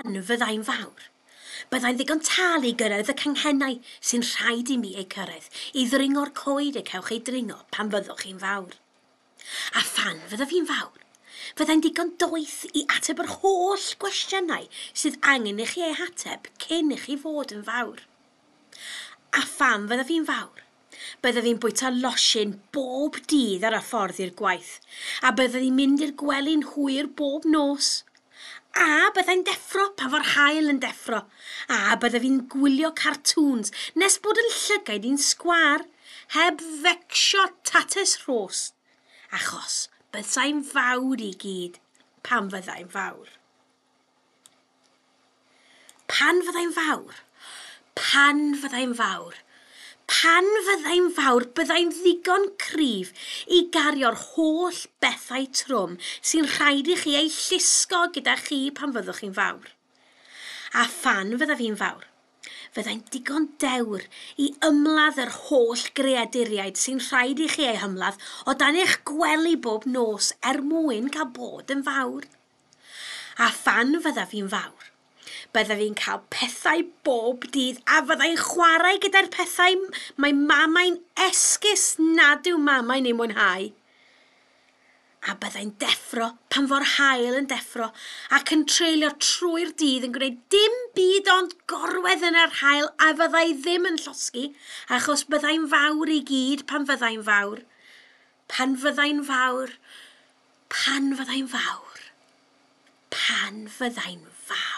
Pan fyddai'n fawr, byddai'n ddigon tal i gyrraedd y canghennau sy'n rhaid i mi eu cyrraedd, i ddringo'r coed y cewch eu dringo pan fyddwch chi'n fawr. A phan fyddaf fi'n fawr, fyddai'n digon doeth i ateb yr holl gwestiynau sydd angen i chi eu hateb cyn i chi fod yn fawr. A phan fyddaf fi'n fawr, byddaf fi'n bwyta losin bob dydd ar y ffordd i'r gwaith, a byddaf fi'n mynd i'r gwely'n hwyr bob nos. A byddai'n deffro pan fo'r haul yn deffro, a byddaf fi'n gwylio cartoons nes bod yn llygaid i'n sgwâr, heb fecsio tatws rhos, achos byddai'n fawr i gyd pan fyddai'n fawr. Pan fyddai'n fawr, pan fyddai'n fawr, pan fyddai'n fawr, byddai'n ddigon cryf i gario'r holl bethau trwm sy'n rhaid i chi eu llusgo gyda chi pan fyddwch chi'n fawr. A phan fyddaf fi'n fawr, fyddai'n digon dewr i ymladd yr holl greaduriaid sy'n rhaid i chi eu hymladd o dan eich gwely bob nos er mwyn cael bod yn fawr. A phan fyddaf fi'n fawr, byddaf fi'n cael pethau bob dydd a fyddai'n chwarae gyda'r pethau mae mamau'n esgus nad yw mamau'n eu mwynhau. A byddai'n deffro pan fo'r haul yn deffro ac yn treulio trwy'r dydd yn gwneud dim byd ond gorwedd yn yr haul a fyddai ddim yn llosgi achos byddai'n fawr i gyd pan fyddai'n fawr. Pan fyddai'n fawr, pan fyddai'n fawr, pan fyddai'n fawr.